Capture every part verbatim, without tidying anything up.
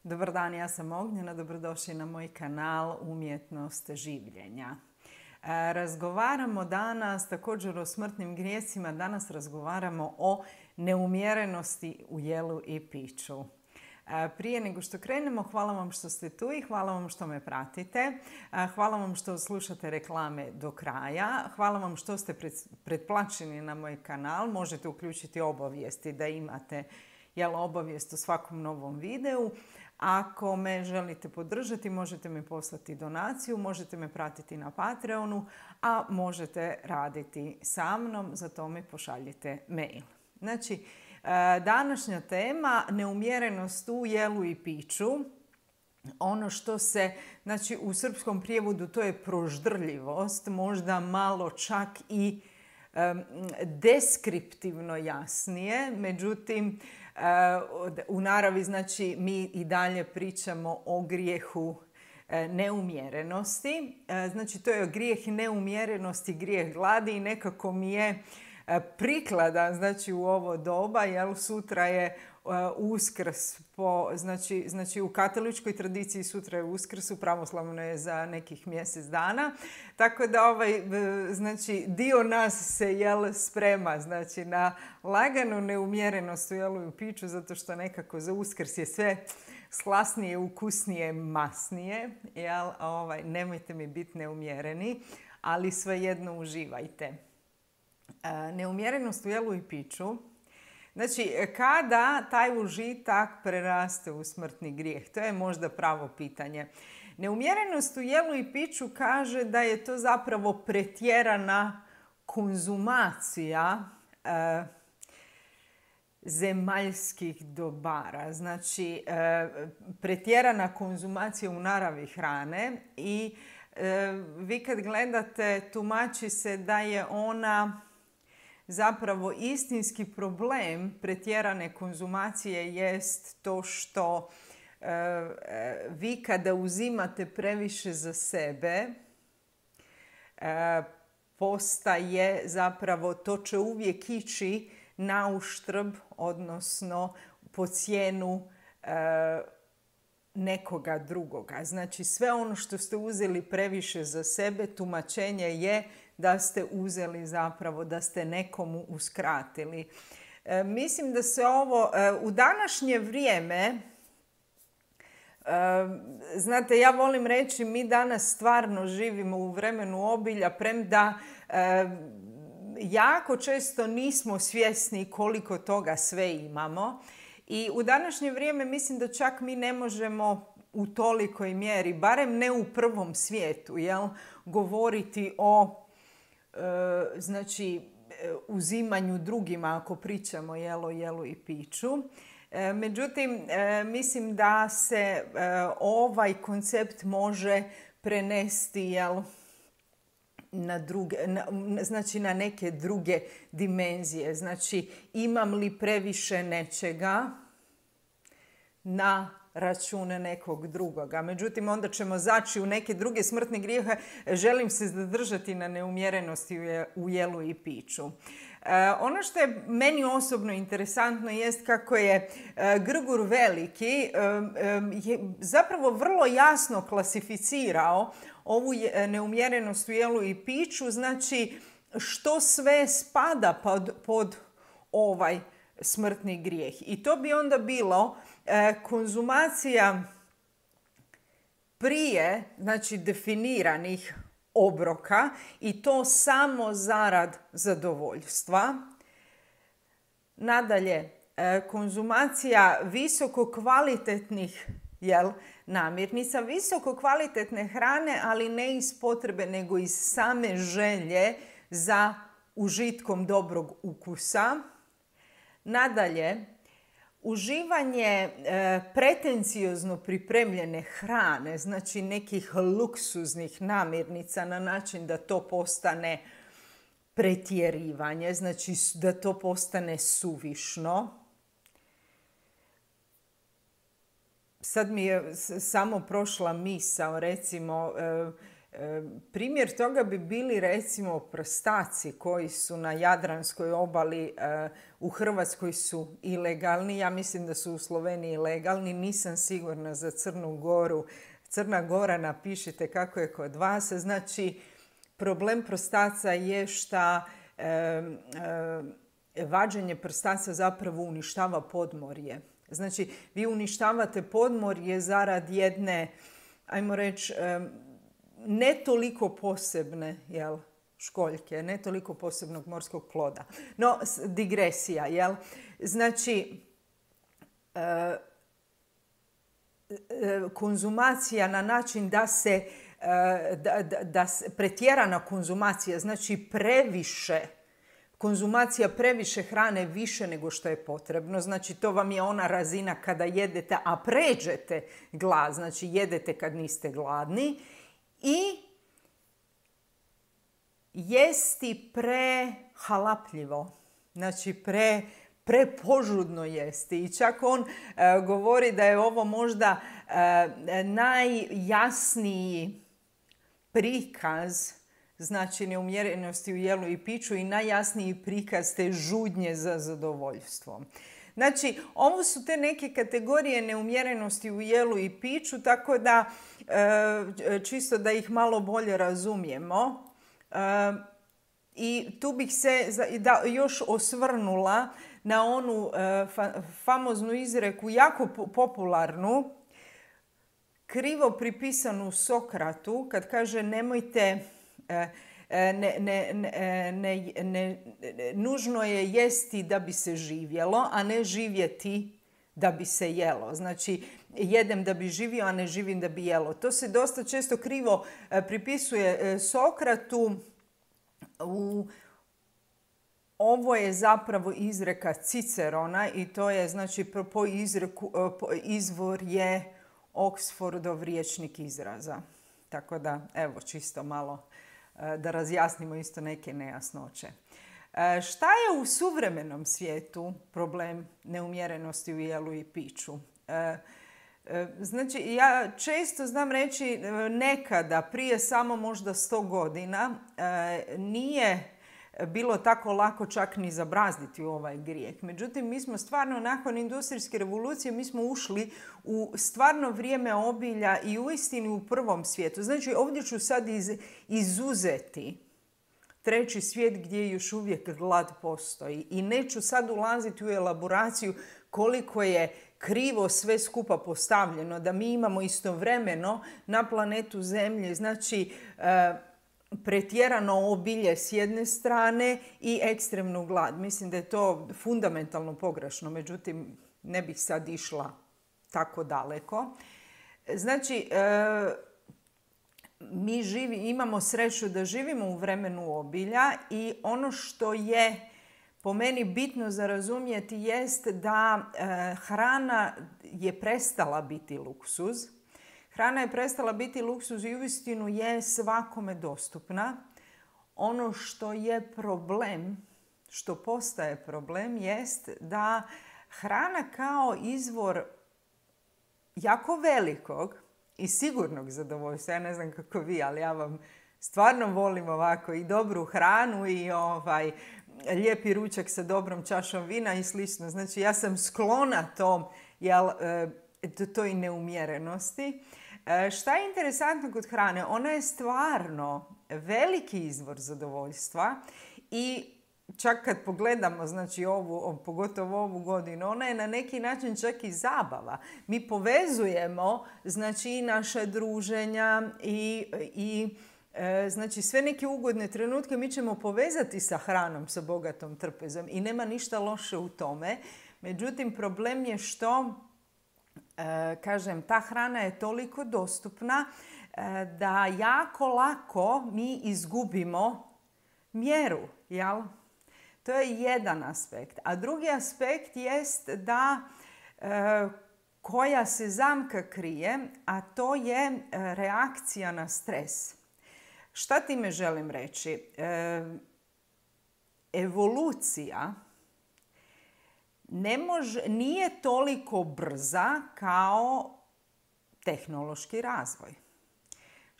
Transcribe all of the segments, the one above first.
Dobar dan, ja sam Ognjena, dobrodošli na moj kanal Umjetnost življenja. Razgovaramo danas također o smrtnim grijesima, danas razgovaramo o neumjerenosti u jelu i piću. Prije nego što krenemo, hvala vam što ste tu i hvala vam što me pratite. Hvala vam što slušate reklame do kraja. Hvala vam što ste pretplaćeni na moj kanal. Možete uključiti obavijesti da imate jel, obavijest o svakom novom videu. Ako me želite podržati, možete mi poslati donaciju, možete me pratiti na Patreonu, a možete raditi sa mnom, za to mi pošaljite mail. Znači, današnja tema, neumjerenost u jelu i piću. Ono što se, znači u srpskom prijevodu to je proždrljivost, možda malo čak i um, deskriptivno jasnije, međutim u naravi znači mi i dalje pričamo o grijehu neumjerenosti. Znači to je grijeh neumjerenosti, grijeh gladi i nekako mi je prikladan znači u ovo doba, jer sutra je Uskrs, po, znači, znači u katoličkoj tradiciji sutra je Uskrs, u pravoslavnoj je za nekih mjesec dana. Tako da ovaj, znači, dio nas se jel, sprema znači, na laganu neumjerenost u jelu i u piću, zato što nekako za Uskrs je sve slasnije, ukusnije, masnije. Jel, ovaj, nemojte mi biti neumjereni, ali svejedno uživajte. Neumjerenost u jelu i piću. Znači, kada taj užitak preraste u smrtni grijeh? To je možda pravo pitanje. Neumjerenost u jelu i piću kaže da je to zapravo pretjerana konzumacija e, zemaljskih dobara. Znači, e, pretjerana konzumacija u naravi hrane i e, vi kad gledate, tumači se da je ona zapravo istinski problem pretjerane konzumacije jest to što e, vi kada uzimate previše za sebe, e, postaje zapravo, to će uvijek ići na uštrb, odnosno po cijenu e, nekoga drugoga. Znači sve ono što ste uzeli previše za sebe, tumačenje je da ste uzeli zapravo, da ste nekomu uskratili. E, mislim da se ovo e, u današnje vrijeme, e, znate, ja volim reći mi danas stvarno živimo u vremenu obilja, premda e, jako često nismo svjesni koliko toga sve imamo. I u današnje vrijeme mislim da čak mi ne možemo u tolikoj mjeri, barem ne u prvom svijetu, jel, govoriti o znači uzimanju drugima ako pričamo jelo, jelu i piću. Međutim, mislim da se ovaj koncept može prenesti jel, na, druge, na, znači na neke druge dimenzije. Znači, imam li previše nečega na račune nekog drugoga. Međutim, onda ćemo zaći u neke druge smrtne grijehe. Želim se zadržati na neumjerenosti u jelu i piću. E, ono što je meni osobno interesantno jest kako je e, Grgur Veliki e, e, je zapravo vrlo jasno klasificirao ovu neumjerenost u jelu i piću, znači što sve spada pod, pod ovaj smrtni grijeh. I to bi onda bilo e, konzumacija prije, znači definiranih obroka i to samo zarad zadovoljstva. Nadalje, e, konzumacija visoko kvalitetnih jel, namirnica, visoko kvalitetne hrane, ali ne iz potrebe, nego iz same želje za užitkom dobrog ukusa. Nadalje, uživanje e, pretenciozno pripremljene hrane, znači nekih luksuznih namirnica na način da to postane pretjerivanje, znači da to postane suvišno. Sad mi je samo prošla misao, recimo, e, Primjer toga bi bili recimo prstaci koji su na Jadranskoj obali, u Hrvatskoj su ilegalni. Ja mislim da su u Sloveniji legalni. Nisam sigurna za Crnu Goru. Crna Gora, napišite kako je kod vas. Znači, problem prstaca je šta e, e, vađenje prstaca zapravo uništava podmorje. Znači, vi uništavate podmorje zarad jedne, ajmo reći, e, ne toliko posebne, jel, školjke, ne toliko posebnog morskog ploda. No, digresija, jel? Znači, e, konzumacija na način da se, da, da, da se pretjerana konzumacija, znači previše, konzumacija previše hrane više nego što je potrebno. Znači to vam je ona razina kada jedete, a pređete glad, znači jedete kad niste gladni. I jesti prehalapljivo, znači pre prepožudno jesti. I čak on e, govori da je ovo možda e, najjasniji prikaz, znači neumjerenosti u jelu i piću i najjasniji prikaz te žudnje za zadovoljstvom. Znači, ovo su te neke kategorije neumjerenosti u jelu i piću, tako da e, čisto da ih malo bolje razumijemo. E, I tu bih se da, još osvrnula na onu e, fa, famoznu izreku, jako popularnu, krivo pripisanu Sokratu, kad kaže nemojte, e, ne, ne, ne, ne, ne, nužno je jesti da bi se živjelo, a ne živjeti da bi se jelo. Znači, jedem da bi živio, a ne živim da bi jelo. To se dosta često krivo e, pripisuje e, Sokratu. U, ovo je zapravo izreka Cicerona i to je, znači, po izreku, po, izvor je Oxfordov rječnik izraza. Tako da, evo, čisto malo da razjasnimo isto neke nejasnoće. Šta je u suvremenom svijetu problem neumjerenosti u jelu i piću? Znači, ja često znam reći nekada, prije samo možda sto godina, nije bilo tako lako čak ni zabrazditi u ovaj grijeh. Međutim, mi smo stvarno nakon industrijske revolucije, mi smo ušli u stvarno vrijeme obilja i uistinu u prvom svijetu. Znači, ovdje ću sad iz, izuzeti treći svijet gdje još uvijek glad postoji. I neću sad ulaziti u elaboraciju koliko je krivo sve skupa postavljeno, da mi imamo istovremeno na planetu Zemlje, znači, e, pretjerano obilje s jedne strane i ekstremnu glad. Mislim da je to fundamentalno pogrešno, međutim ne bih sad išla tako daleko. Znači, e, mi živi, imamo sreću da živimo u vremenu obilja i ono što je po meni bitno za razumjeti jest da e, hrana je prestala biti luksuz. Hrana je prestala biti luksuz i uistinu je svakome dostupna. Ono što je problem, što postaje problem, jest da hrana kao izvor jako velikog i sigurnog zadovoljstva, ja ne znam kako vi, ali ja vam stvarno volim ovako i dobru hranu i ovaj, lijepi ručak sa dobrom čašom vina i slično. Znači, ja sam sklona tom, jel, toj neumjerenosti. Šta je interesantno kod hrane? Ona je stvarno veliki izvor zadovoljstva i čak kad pogledamo, znači ovu, pogotovo ovu godinu, ona je na neki način čak i zabava. Mi povezujemo, znači, i naša druženja i, i e, znači sve neke ugodne trenutke mi ćemo povezati sa hranom, sa bogatom trpezom i nema ništa loše u tome. Međutim, problem je što, e, kažem, ta hrana je toliko dostupna e, da jako lako mi izgubimo mjeru, jel? To je jedan aspekt. A drugi aspekt jest da e, koja se zamka krije, a to je e, reakcija na stres. Šta time želim reći? E, evolucija ne može, nije toliko brza kao tehnološki razvoj.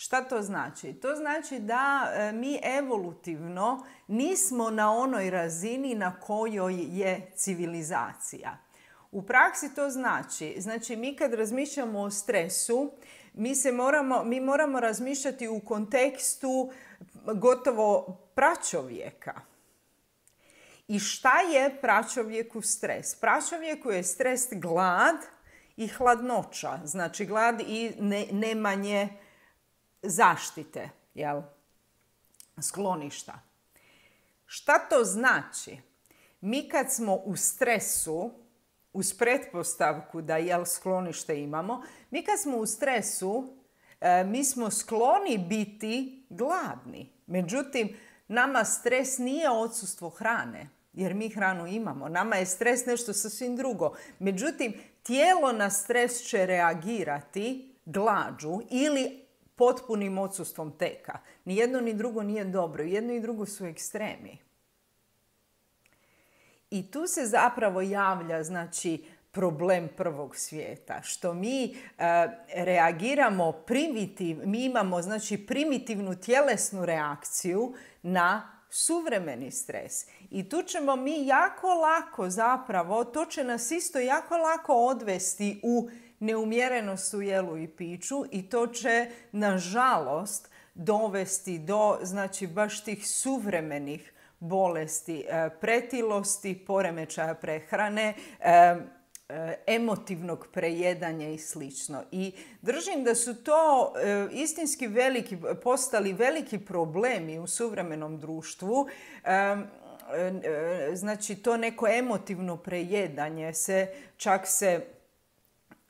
Šta to znači? To znači da mi evolutivno nismo na onoj razini na kojoj je civilizacija. U praksi to znači, znači mi kad razmišljamo o stresu, mi, se moramo, mi moramo razmišljati u kontekstu gotovo pračovjeka. I šta je pračovjeku stres? Pračovjeku je stres glad i hladnoća, znači glad i ne, nemanje zaštite, jel? Skloništa. Šta to znači? Mi kad smo u stresu, uz pretpostavku da jel sklonište imamo, mi kad smo u stresu, e, mi smo skloni biti gladni. Međutim, nama stres nije odsustvo hrane, jer mi hranu imamo. Nama je stres nešto sasvim drugo. Međutim, tijelo na stres će reagirati glađu ili potpunim odsustvom teka. Ni jedno ni drugo nije dobro. Jedno i drugo su ekstremi. I tu se zapravo javlja, znači, problem prvog svijeta. Što mi e, reagiramo primitiv, mi imamo, znači, primitivnu tjelesnu reakciju na suvremeni stres. I tu ćemo mi jako lako zapravo, to će nas isto jako lako odvesti u neumjerenost u jelu i piću i to će, nažalost, dovesti do, znači, baš tih suvremenih bolesti, pretilosti, poremećaja prehrane, emotivnog prejedanja i slično. I držim da su to istinski veliki, postali veliki problemi u suvremenom društvu. Znači, to neko emotivno prejedanje se, čak se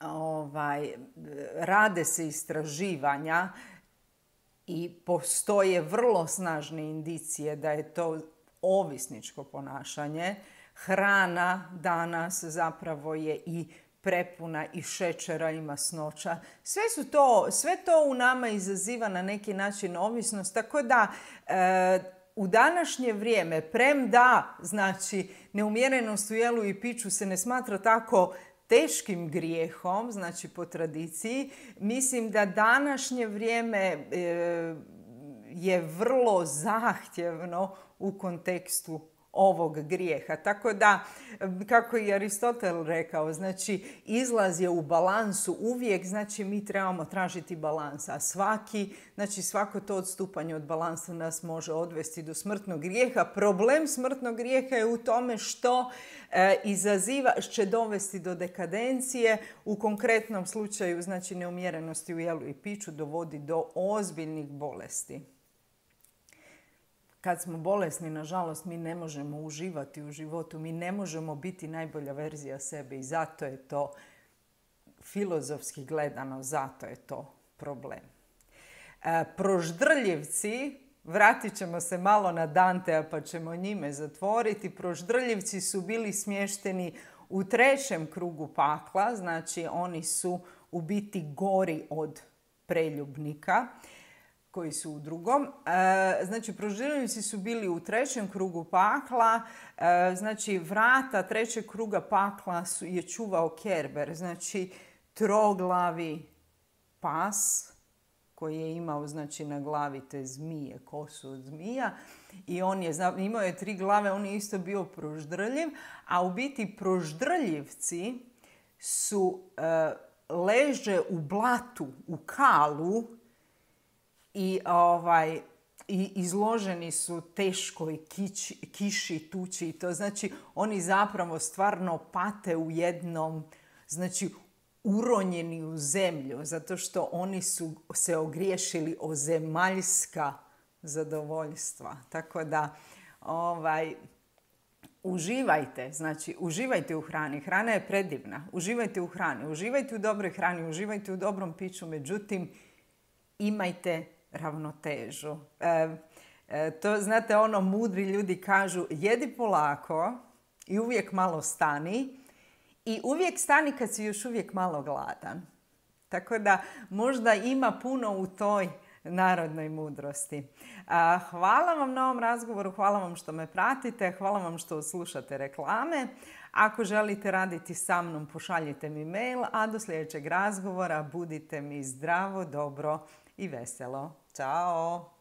ovaj, rade se istraživanja i postoje vrlo snažne indicije da je to ovisničko ponašanje. Hrana danas zapravo je i prepuna i šećera i masnoća. Sve, su to, sve to u nama izaziva na neki način ovisnost, tako da e, u današnje vrijeme, premda, znači, neumjerenost u jelu i piću se ne smatra tako teškim grijehom, znači po tradiciji, mislim da današnje vrijeme e, je vrlo zahtjevno u kontekstu ovog grijeha. Tako da, kako je Aristotel rekao, znači izlaz je u balansu uvijek, znači mi trebamo tražiti balans, a svaki, znači svako to odstupanje od balansa nas može odvesti do smrtnog grijeha. Problem smrtnog grijeha je u tome što e, izaziva, će dovesti do dekadencije, u konkretnom slučaju, znači neumjerenosti u jelu i piću, dovodi do ozbiljnih bolesti. Kad smo bolesni, nažalost, mi ne možemo uživati u životu, mi ne možemo biti najbolja verzija sebe i zato je to, filozofski gledano, zato je to problem. E, proždrljivci, vratit ćemo se malo na Dantea pa ćemo njime zatvoriti, proždrljivci su bili smješteni u trećem krugu pakla, znači oni su u biti gori od preljubnika, koji su u drugom. Znači, proždrljivci su bili u trećem krugu pakla. Znači, vrata trećeg kruga pakla su, je čuvao Kerber. Znači, troglavi pas koji je imao, znači, na glavi te zmije, kosu od zmija. I on je imao je tri glave, on je isto bio proždrljiv. A u biti proždrljivci su leže u blatu, u kalu, I, ovaj, i izloženi su teškoj kići, kiši, tuči. To znači oni zapravo stvarno pate u jednom, znači uronjeni u zemlju, zato što oni su se ogriješili o zemaljska zadovoljstva. Tako da ovaj, uživajte, znači uživajte u hrani. Hrana je predivna. Uživajte u hrani, uživajte u dobroj hrani, uživajte u dobrom piću, međutim imajte ravnotežu. E, e, to, znate, ono, mudri ljudi kažu, jedi polako i uvijek malo stani i uvijek stani kad si još uvijek malo gladan. Tako da možda ima puno u toj narodnoj mudrosti. A, hvala vam na ovom razgovoru, hvala vam što me pratite, hvala vam što slušate reklame. Ako želite raditi sa mnom, pošaljite mi mail, a do sljedećeg razgovora budite mi zdravo, dobro i veselo. Ćao!